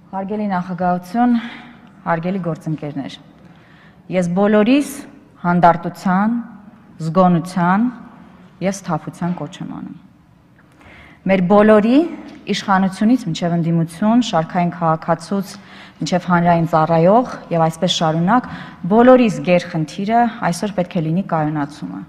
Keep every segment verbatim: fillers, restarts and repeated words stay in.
Հարգելի նախագահություն, հարգելի գործընկերներ, ես բոլորիս հանդարտության, զգոնության և սթափության կոչ եմ անում։ Մեր բոլորի իշխանությունից մինչև ընդդիմություն, շարքային քաղաքացուց մինչև հանրային ծառայող և այսպես շարունակ, բոլորիս գերխնդիրը այսօր պետք է լինի կայունացումը։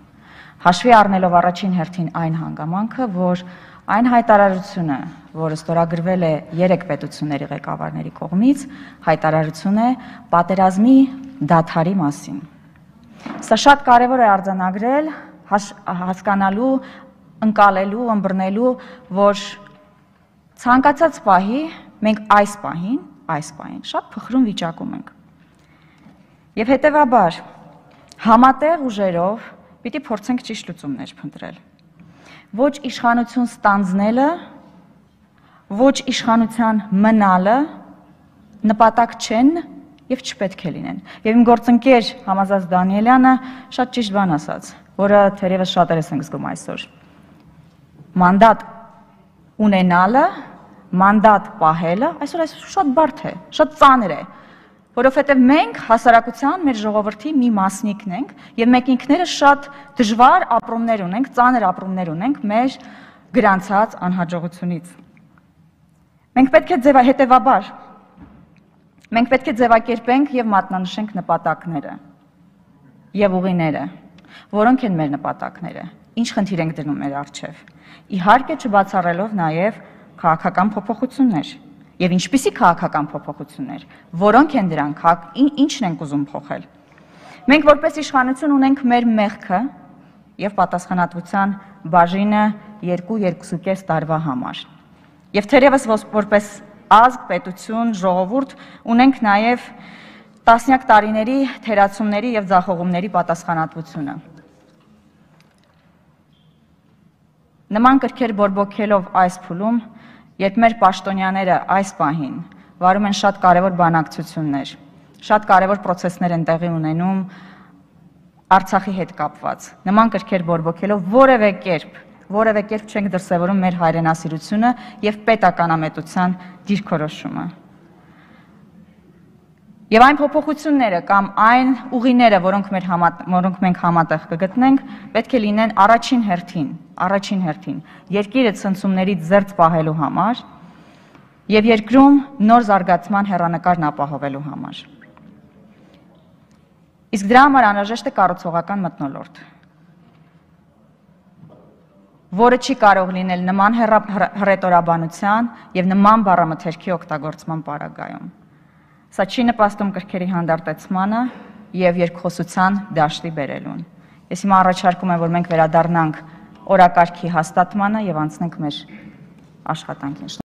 Հաշվի առնելով առաջին հերթին այն հանգամանքը, որ այն հայտարարությունը, որը ստորագրվել է երեք պետությունների ղեկավարների կողմից, հայտարարություն է պատերազմի դադարի մասին։ Սա շատ կարևոր է արձանագրել, հասկանալու, ընկալելու, ըմբռնելու, որ ցանկացած պահի մենք այս պահին, այս պահին շատ փխրուն վիճակում ենք։ Եվ հետևաբար համատեղ ուժերով պիտի փորձենք ճիշտ լուծումներ փնտրել։ Ոչ իշխանություն ստանձնելը, ոչ իշխանության մնալը նպատակ չեն և չպետք է լինեն։ Եվ իմ գործընկեր Համազած Դանիելյանը շատ ճիշտ բան ասաց, որը թերևս շատերս ենք զգում այսօր։ Մանդատ ունենալը, մանդատ պահելը, այսօր այսօր շատ բարդ է, շատ ծանր է, որովհետև մենք հասարակության մեր ժողովրդի մի մասնիկն ենք և մենք ինքներս շատ դժվար ապրումներ ունենք, ծանր ապրումներ ունենք մեր գրանցած անհաջողությունից։ Մենք պետք է հետևաբար, մենք պետք է ձևակերպենք և մատնանշենք նպատակները և ուղիները, որոնք են մեր նպատակները, ինչ խնդիր ենք դնում մեր առջև, իհարկե չբացառելով նաև քաղաքական փոփոխություններ և ինչպիսի քաղաքական փոփոխություններ, որոնք են դրանք, ինչն ենք ուզում փոխել։ Մենք որպես իշխանություն ունենք մեր մեղքը և պատասխանատվության բաժինը երկու երկուսուկես տարվա համար։ Եվ թերևս որպես ազգ, պետություն, ժողովուրդ ունենք նաև տասնյակ տարիների թերացումների և ձախողումների պատասխանատվությունը։ Նման կրքեր բորբոքելով այս փուլում, երբ մեր պաշտոնյաները այս պահին վարում են շատ կարևոր բանակցություններ, շատ կարևոր պրոցեսներ են տեղի ունենում Արցախի հետ կապված, նման կրքեր բորբոքելով որևէ կերպ, որևէ կերպ չենք դրսևորում մեր հայրենասիրությունը և պետականամետության դիրքորոշումը։ Եվ այն փոփոխությունները կամ այն ուղիները, որոնք մենք համատեղ կգտնենք, պետք է լինեն առաջին հերթին, առաջին հերթին երկիրը ցնցումներից զերծ պահելու համար և երկրում նոր զարգացման հեռանկարն ապահովելու համար։ Իսկ դրա համար անհրաժեշտ է կառուցողական մթնոլորտ, որը չի կարող լինել նման հռետորաբանության և նման բառամթերքի օգտագործման պարագայում։ Սա չի նպաստում կրքերի հանդարտեցմանը և երկխոսության դաշտի բերելուն։ Ես հիմա առաջարկում եմ, որ մենք վերադառնանք օրակարգի հաստատմանը և անցնենք մեր աշխատանքին։